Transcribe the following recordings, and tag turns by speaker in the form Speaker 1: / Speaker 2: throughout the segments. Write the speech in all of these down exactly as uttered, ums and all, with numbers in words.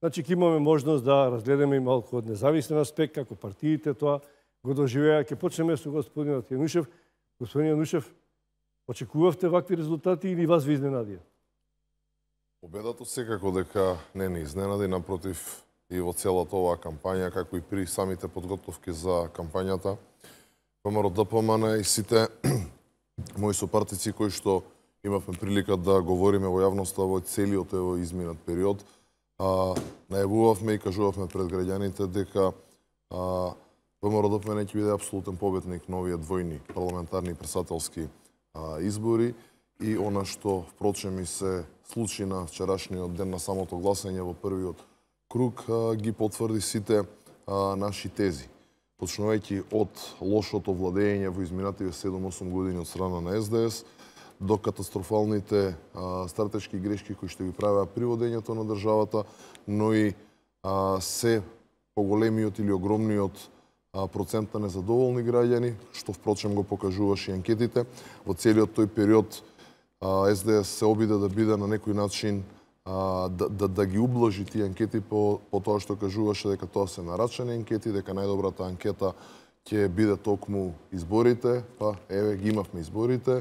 Speaker 1: Значи, ќе имаме можност да разгледаме и малку од независен аспект, како партиите тоа го доживеа. Ќе почнеме со господинот Јанушев. Господин Јанушев, очекувавте вакви резултати или вас ви изненадија?
Speaker 2: Победата секако дека не не изненади, напротив, и во целата оваа кампања, како и при самите подготовки за кампањата, ВМРО-ДПМН и сите мои сопартици кои што имавме прилика да говориме во јавноста во целиот овој изминат период, а, најавувавме и кажувавме пред граѓаните дека а, ВМРО-ДПМН ќе биде апсолутен победник на овие двојни парламентарни и председателски а, избори и она што впрочем и се случи на вчерашниот ден на самото гласање во првиот круг а, ги потврди сите а, наши тези. Почнувајќи од лошото владење во изминативе седум-осум години од страна на Ес Де Ес, до катастрофалните а, стратешки грешки кои што ги правеа при водењето на државата, но и а, се поголемиот или огромниот а, процент на незадоволни граѓани, што впрочем го покажуваше и анкетите. Во целиот тој период а, Ес Де Ес се обиде да биде на некој начин а, да, да, да ги ублажи тие анкети по, по тоа што кажуваше дека тоа се нарачани анкети, дека најдобрата анкета ќе биде токму изборите, па еве ги имавме изборите,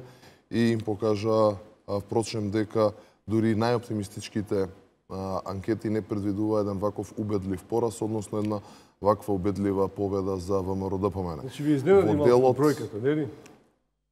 Speaker 2: и им покажа, впрочем, дека дури најоптимистичките анкети не предвидува еден ваков убедлив пораз, односно една ваква убедлива победа за ВМРО-ДПМН.
Speaker 1: Значи, ви изненади малку бројката, не ли?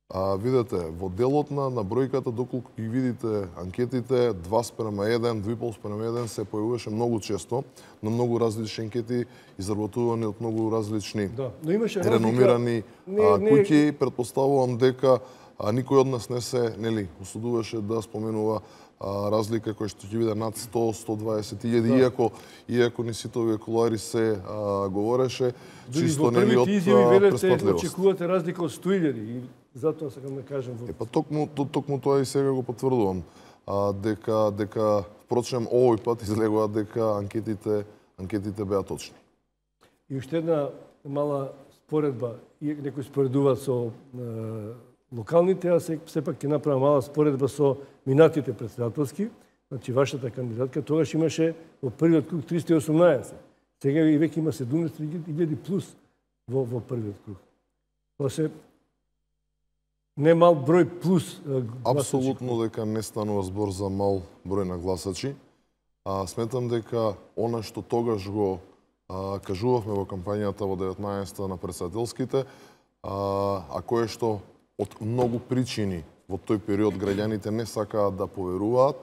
Speaker 2: А, видете, во делот на, на бројката, доколку ги видите анкетите, два спрема еден, два и пол спрема еден се појавуваше многу често, на многу различни анкети, изработувани од многу различни
Speaker 1: да, но имаше
Speaker 2: реномирани
Speaker 1: не,
Speaker 2: а,
Speaker 1: не...
Speaker 2: куќи. Предпоставувам дека а, никој од нас не се, нели, осудуваше да споменува а, разлика која што ќе биде над сто до сто дваесет илјади, да. иако иако ни сите овие кулуари се а, говореше, чисто нели од преспатливост.
Speaker 1: Очекувате разлика од сто илјади и затоа сакам да кажам.
Speaker 2: Е, па токму, токму тоа и сега го потврдувам. А, дека, дека, впрочем, овој пат излегува дека анкетите, анкетите беа точни.
Speaker 1: И уште една мала споредба, и некои споредуваат со е, локалните, а се, сепак ќе направам мала споредба со минатите председателски. Значи, вашата кандидатка тогаш имаше во првиот круг триста и осумнаесет. Сега и веќе има седумнаесет илјади плюс во, во првиот круг. Тоа се не мал број плюс гласачи.
Speaker 2: Апсолутно дека не станува збор за мал број на гласачи. А, сметам дека она што тогаш го а, кажувавме во кампањата во деветнаесетта на председателските, а, а кое што од многу причини во тој период граѓаните не сакаат да поверуваат,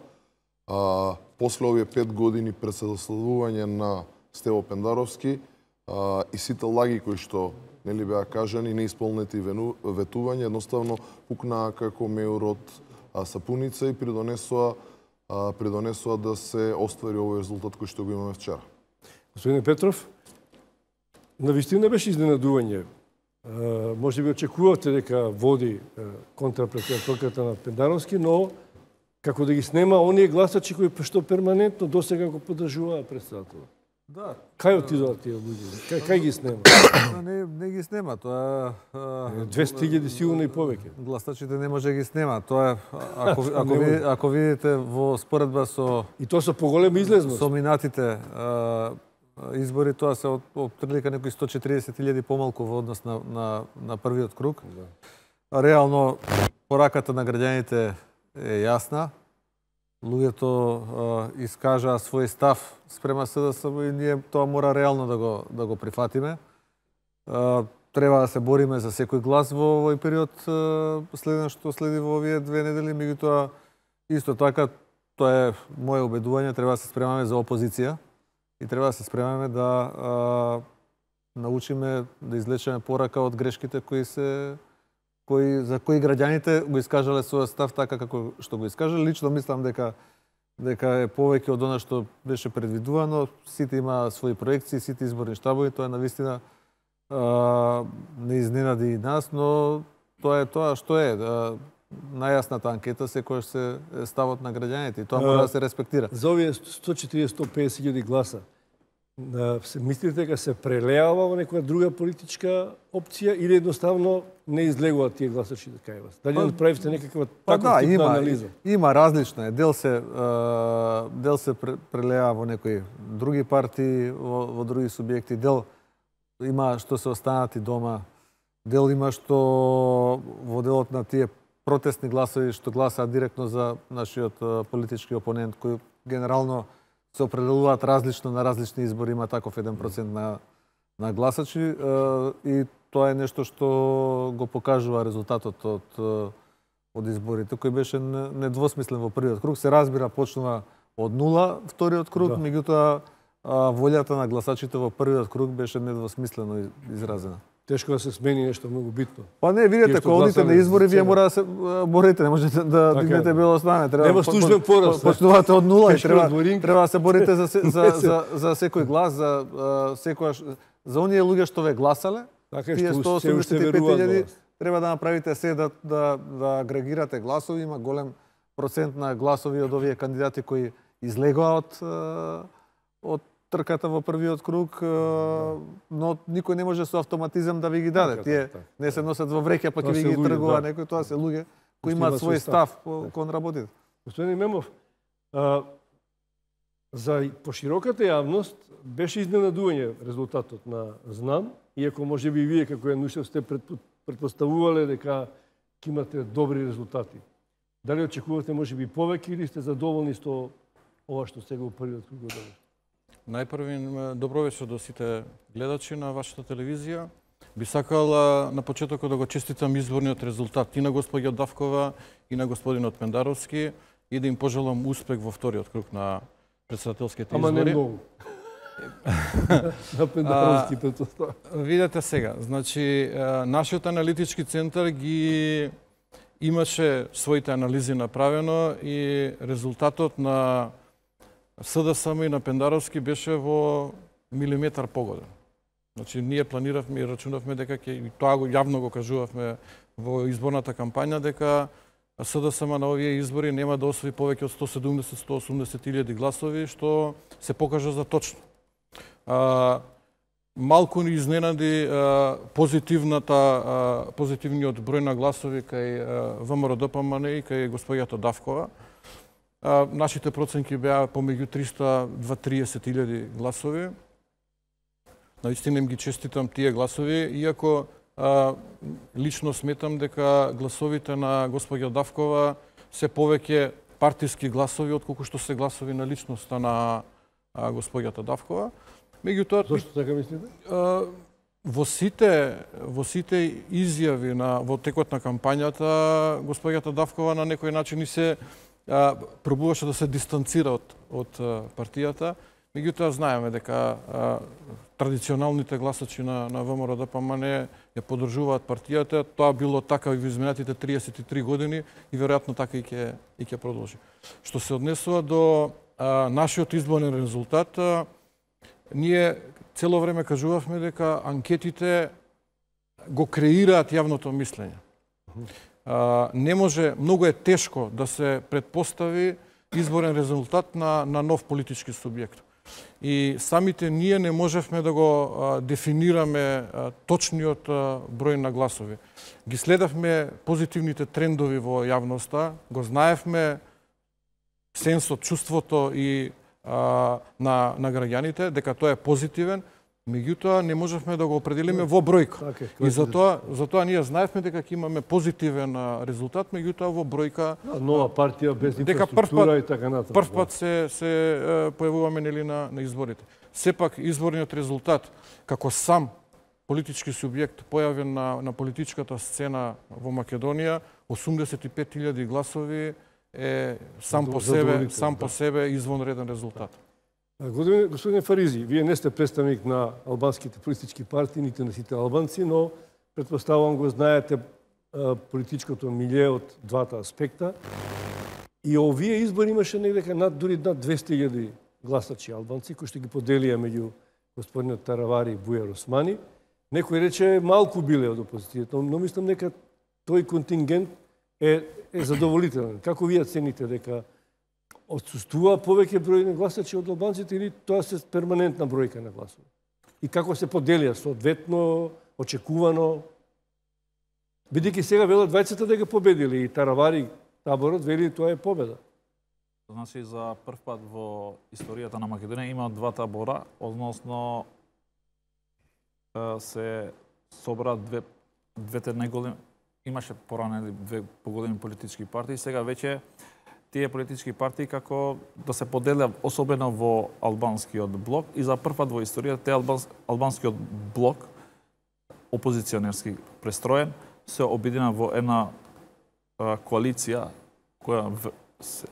Speaker 2: а, после овие пет години председателствување на Стево Пендаровски а, и сите лаги кои што нели беа кажани, неисполнети ветувања, едноставно пукнаа како меур од сапуница и придонесоа, а, придонесоа да се оствари овој резултат кој што го имаме вчера.
Speaker 1: Господин Петров, навистина беше изненадување. Може би очекувавте дека води контрапредседателката на Пендаровски, но како да ги снема оние гласачи кои што перманентно досега го поддржуваа председателот.
Speaker 3: Да.
Speaker 1: Кај отидоа тие луѓе? Кај, кај ги снема?
Speaker 3: Не, не ги снема, тоа е...
Speaker 1: двесте илјади сигурно и повеќе.
Speaker 3: Гласачите не може да ги снема. Тоа е, ако, ако, ви, ако видите во споредба со...
Speaker 1: И тоа со поголема излезност.
Speaker 3: Со минатите а, избори, тоа се од, од прилика некои сто четиридесет илјади помалку во однос на, на, на првиот круг. Да. Реално, пораката на граѓаните е јасна. Луѓето uh, искажаа свој став спрема С Д С М и ние тоа мора реално да го, да го прифатиме. Uh, треба да се бориме за секој глас во овој период uh, следно што следи во овие две недели, меѓутоа исто така тоа е моје убедување, треба да се спремаме за опозиција и треба да се спремаме да uh, научиме да извлечеме порака од грешките кои се кои за кои граѓаните го искажале својот став така како што го искажале. Лично мислам дека дека е повеќе од она што беше предвидувано. Сите има своји проекции, сите изборни штабови, тоа е навистина а, не изненади и нас, но тоа е тоа што е. А, најасната анкета секојаш се ставот на граѓаните и тоа мора да се респектира.
Speaker 1: За овие сто четиридесет до сто песет илјади гласа, се мислите дека се прелеава во некоја друга политичка опција или едноставно не излегуваат тие гласачи да кај вас? Дали направивте некаква
Speaker 3: па,
Speaker 1: таква
Speaker 3: да,
Speaker 1: типна
Speaker 3: има,
Speaker 1: анализа?
Speaker 3: Има различно е. Дел се дел се прелева во некои други партии, во, во други субјекти, дел има што се останати дома, дел има што во делот на тие протестни гласови што гласаат директно за нашиот политички опонент, кој генерално се определуваат различно на различни избори, има таков еден процент на, на гласачи и тоа е нешто што го покажува резултатот од, од изборите, кој беше недвосмислен во првиот круг. Се разбира, почнува од нула вториот круг, да. Меѓутоа волјата на гласачите во првиот круг беше недвосмислено изразена.
Speaker 1: Тешко да се смени нешто многу битно.
Speaker 3: Па не, видите, кога одите на избори, вие мора да се борите, не можете да дигнете бело знаме. Треба
Speaker 1: нема службен пораз.
Speaker 3: Почнувате од нула и треба треба да се борите за за за за секој глас, за секојаш за оние луѓе што ве гласале.
Speaker 1: Така
Speaker 3: тие сто осумдесет и пет илјади треба да направите се да да да агрегирате гласови, има голем процент на гласови од овие кандидати кои излегоа од од трката во првиот круг, но никој не може со автоматизам да ви ги даде. Тие не се носат во вреќа, па ќе ви ги тргува некој, тоа се луѓе кои имаат свој став кон работите.
Speaker 1: Господин Имамов, за пошироката јавност беше изненадување резултатот на Знам, иако може би вие како Јанушев сте предпоставувале дека ќе имате добри резултати. Дали очекувате може би повеќе или сте задоволни со ова што сега во првиот круг одобрите?
Speaker 4: Најпрви, добро вечер до сите гледачи на вашата телевизија. Би сакал на почетокот да го честитам изборниот резултат и на господја Давкова и на господинот Пендаровски и да им пожелам успех во вториот круг на претседателските избори.
Speaker 1: Ама не многу. На Пендаровски претпоставам.
Speaker 4: Видете сега, значи нашиот аналитички центар ги имаше своите анализи направено и резултатот на СДСМ и на Пендаровски беше во милиметар погоден. Значи, ние планиравме и рачунавме дека ќе, и тоа го јавно го кажувавме во изборната кампања, дека СДСМ на овие избори нема да освои повеќе од сто седумдесет до сто осумдесет илјади гласови, што се покажа за точно. А, малку ни изненади а, позитивната, а, позитивниот број на гласови кај ВМРО-ДПМН и кај господјата Давкова. А, нашите проценки беа помеѓу триста до триесет илјади гласови. Наистина им ги честитам тие гласови, иако а, лично сметам дека гласовите на господја Давкова се повеќе партиски гласови, отколку што се гласови на личноста на а, господјата Давкова. Меѓутоа,
Speaker 1: зошто така мислите?
Speaker 4: А, во сите во сите изјави на во текот на кампањата господјата Давкова на некој начин и се а, пробуваше да се дистанцира од од партијата. Меѓутоа знаеме дека а, традиционалните гласачи на на ВМРО-ДПМН ја поддржуваат партијата. Тоа било така и во изминатите триесет и три години и веројатно така и ќе и ќе продолжи. Што се однесува до а, нашиот изборен резултат, а, ние цело време кажувавме дека анкетите го креираат јавното мислење. А, не може, многу е тешко да се предпостави изборен резултат на на нов политички субјект. И самите ние не можевме да го а, дефинираме а, точниот а, број на гласови. Ги следавме позитивните трендови во јавноста, го знаевме сенсот, чувството и а, на, на граѓаните, дека тоа е позитивен, меѓутоа не можевме да го определиме во бројка.
Speaker 1: Okay,
Speaker 4: и затоа, затоа ние знаевме дека ќе имаме позитивен резултат, меѓутоа во бројка
Speaker 1: нова партија без
Speaker 4: дека
Speaker 1: инфраструктура и така натаму.
Speaker 4: Прв пат се се појавуваме нели на на изборите. Сепак изборниот резултат како сам политички субјект појавен на на политичката сцена во Македонија, осумдесет и пет илјади гласови е сам по себе сам по себе извонреден резултат.
Speaker 1: Господин, господин Фаризи, вие не сте представник на албанските политички партии, нити на сите албанци, но предпоставувам го знаете а, политичкото милје од двата аспекта. И овие избори имаше негде над дури над двесте илјади гласачи албанци кои што ги поделија меѓу господинот Таравари и Бујар Османи. Некој рече малку биле од опозицијата, но мислам дека тој контингент е, е задоволителен. Како вие цените дека отсуствува повеќе број на гласачи од албанците или тоа се перманентна бројка на гласови? И како се поделија соодветно, очекувано? Бидејќи сега велат двајцата дека победили и Таравари таборот вели тоа е победа.
Speaker 5: Значи за прв пат во историјата на Македонија има два табора, односно се собра две двете најголеми, имаше порано две поголеми политички партии, сега веќе тие политички партии како да се поделат особено во албанскиот блок и за прв пат во историјата те албанс, албанскиот блок опозиционерски престроен се обедина во една а, коалиција која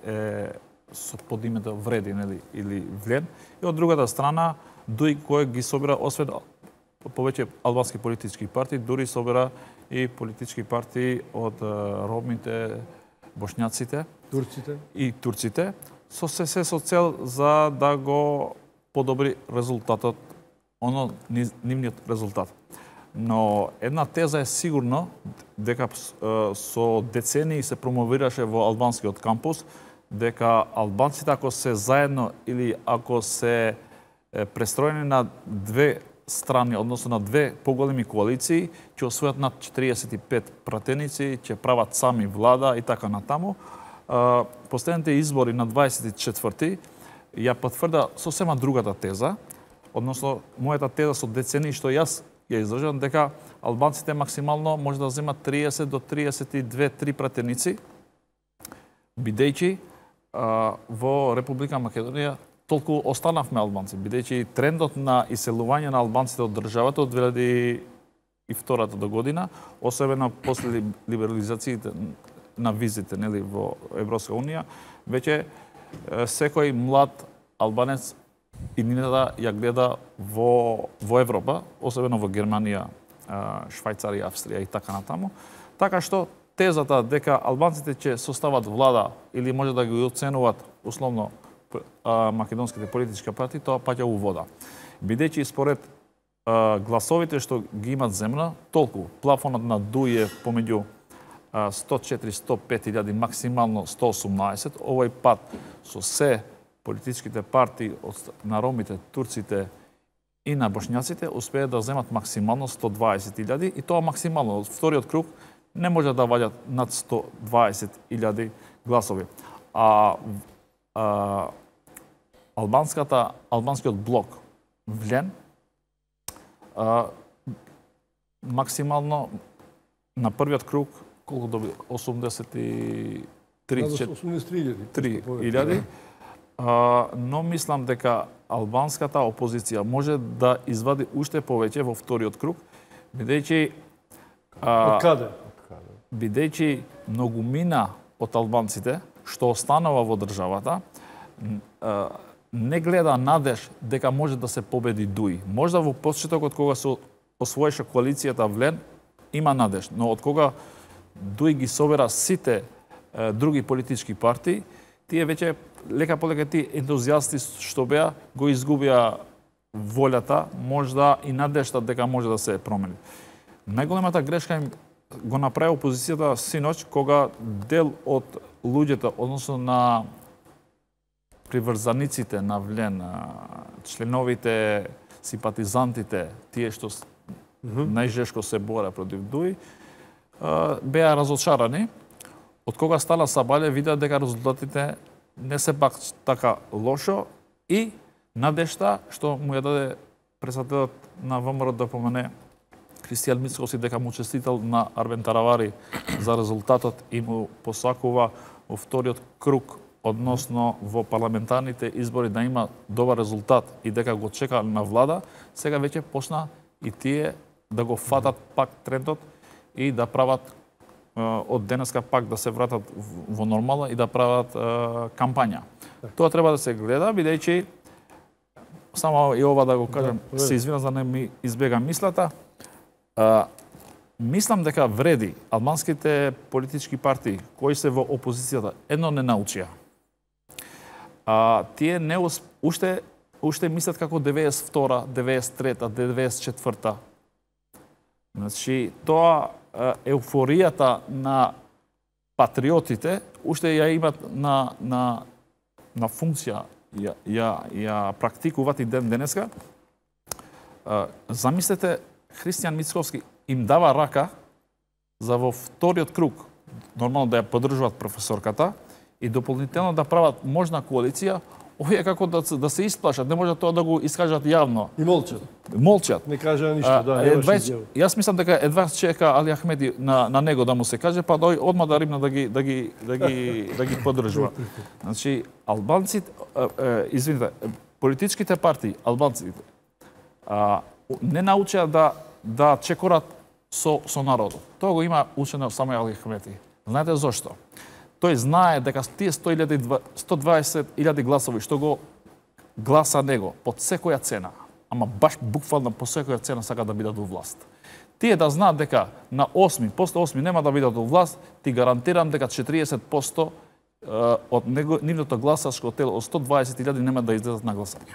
Speaker 5: е со под името Вреди, нели, или Влен, и од другата страна дуи кој ги собира освен повеќе албански политички партии, дури собира и политички партии од ромите, бошњаците,
Speaker 1: турците
Speaker 5: и турците, со се се со цел за да го подобри резултатот, оно нивниот резултат. Но една теза е сигурно дека со децении се промовираше во албанскиот кампус дека албанците ако се заедно или ако се престроени на две страни, односно на две поголеми коалиции, ќе освојат над четириесет и пет пратеници, ќе прават сами влада и така натаму. Последните избори на дваесет и четврти ја потврда сосема другата теза, односно мојата теза со децении што јас ја издржам дека албанците максимално може да земат триесет до триесет и две три пратеници, бидејќи во Република Македонија толку останавме албанци, бидејќи трендот на иселување на албанците од државата од две илјади и втората до година, особено после либерализациите на визите, нели, во Европска унија, веќе секој млад албанец иднината ја гледа во во Европа, особено во Германија, Швајцарија, Австрија и така натаму. Така што тезата дека албанците ќе состават влада или може да ги оценуваат условно македонските политички партии, тоа паѓа у вода. Бидејќи според а, гласовите што ги имат земна, толку плафонот на ДУИ е помеѓу сто и четири до сто и пет илјади, максимално сто и осумнаесет, овој пат со се политичките партии од, на ромите, турците и на бошњаците успеат да земат максимално сто и дваесет илјади и тоа максимално од вториот круг не може да ваѓат над сто и дваесет илјади гласови. А, а албанската албанскиот блок Влен а, максимално на првиот круг колку доби осумдесет и три илјади, но мислам дека албанската опозиција може да извади уште повеќе во вториот круг, бидејќи
Speaker 1: Од каде?
Speaker 5: Бидејќи многумина од албанците што останува во државата не гледа надеж дека може да се победи ДУИ. Можда во почетокот кога се освоеше коалицијата Влен има надеж, но од кога ДУИ ги собера сите е, други политички партии, тие веќе лека полека тие ентузијасти што беа го изгубија волјата, можда и надежта дека може да се промени. Најголемата грешка им го направи опозицијата синоќ кога дел од луѓето, односно на приврзаниците на Влен, членовите, симпатизантите, тие што mm -hmm. најжешко се бора против ДУИ, беа разочарани. Од кога стана Сабале, видеа дека резултатите не се пак така лошо и надежта што му ја даде председателот на ВМРО да помене Кристијан Мицкоси дека му честител на Арбен Таравари за резултатот и му посакува во вториот круг, односно во парламентарните избори да има добар резултат и дека го чека на влада, сега веќе почна и тие да го фатат пак трендот и да прават од денеска пак да се вратат во нормала и да прават кампања. Тоа треба да се гледа, бидејќи само и ова да го кажам, да, се извинам за не ми избега мислата. А, мислам дека вреди албанските политички партии кои се во опозицијата едно не научија. А, тие не усп... уште уште мислат како деветдесет и втора, деветдесет и трета, деветдесет и четврта. Значи тоа еуфоријата на патриотите уште ја имат на на на функција ја, ја, ја практикуваат и ден денеска, замислете, Христијан Мицковски им дава рака за во вториот круг, нормално да ја поддржуваат професорката и дополнително да прават можна коалиција, овие како да, да се исплашат, не може тоа да го искажат јавно.
Speaker 1: И молчат.
Speaker 5: Молчат.
Speaker 1: Не кажа ништо, да,
Speaker 5: едва,
Speaker 1: немаше изјава.
Speaker 5: Јас мислам дека едва чека Али Ахмеди на, на него да му се каже, па дој одма да римна да ги да ги да ги да ги поддржува. Значи албанците, извините, политичките партии, албанците а, не научеа да да чекорат со со народот. Тоа го има учено само Али Ахмеди. Знаете зошто? Тој знае дека тие сто дваесет илјади гласови што го гласа него под секоја цена, ама баш буквално по секоја цена сака да бидат во власт. Тие да знаат дека на осми, после осми нема да бидат во власт, ти гарантирам дека четириесет проценти од него, нивното гласачко тело од сто дваесет илјади нема да излезат на гласање.